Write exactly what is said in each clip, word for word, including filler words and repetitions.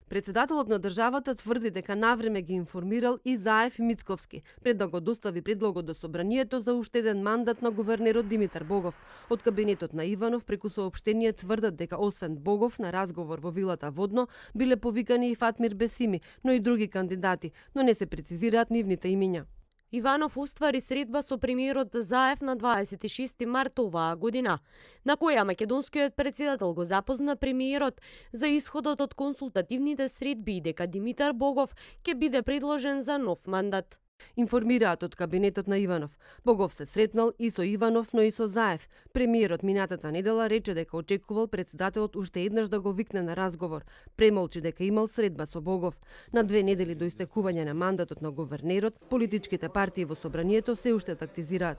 Председателот на државата тврди дека навреме ги информирал и Заев и Мицковски, пред да го достави предлогот до собранието за уште еден мандат на гувернерот Димитар Богов. Од кабинетот на Иванов преку соопштение тврдат дека освен Богов на разговор во вилата Водно биле повикани и Фатмир Бесими, но и други кандидати, но не се прецизираат нивните имиња. Иванов уствари средба со премиерот Заев на дваесет и шести март оваа година, на која македонскиот председател го запозна премиерот за исходот од консултативните средби и дека Димитар Богов ќе биде предложен за нов мандат. Информираат од кабинетот на Иванов. Богов се сретнал и со Иванов, но и со Заев. Премиерот минатата недела рече дека очекувал председателот уште еднаш да го викне на разговор. Премолчи дека имал средба со Богов. На две недели до истекување на мандатот на гувернерот, политичките партии во собранието се уште тактизираат.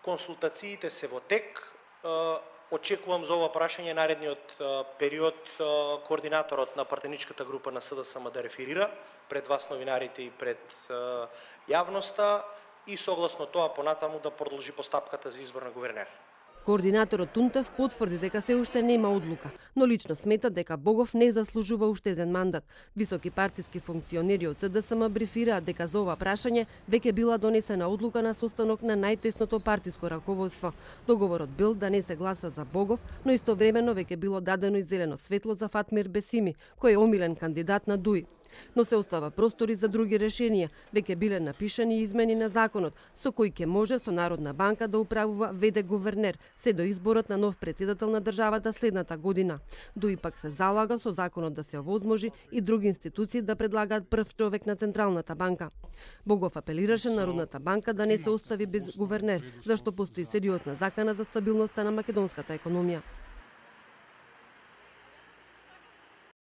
Консултациите се во тек. Очекувам за ова прашање наредниот период координаторот на партеничката група на СДСМ да реферира пред вас новинарите и пред јавноста и согласно тоа понатаму да продолжи постапката за избор на гувернер. Координаторот Тунтев потврди дека се уште нема одлука, но лично смета дека Богов не заслужува уште еден мандат. Високи партиски функционери од СДСМ брифираат дека за ова прашање веќе била донесена одлука на состанок на најтесното партиско раководство. Договорот бил да не се гласа за Богов, но истовремено веќе било дадено и зелено светло за Фатмир Бесими, кој е омилен кандидат на ДУИ. Но се остава простори за други решенија. Веќе биле напишани измени на законот, со кои ќе може со Народна банка да управува вд гувернер, се до изборот на нов председател на државата следната година. ДУИ пак се залага со законот да се овозможи и други институции да предлагаат прв човек на Централната банка. Богов апелираше Народната банка да не се остави без гувернер, зашто постои сериозна закана за стабилноста на македонската економија.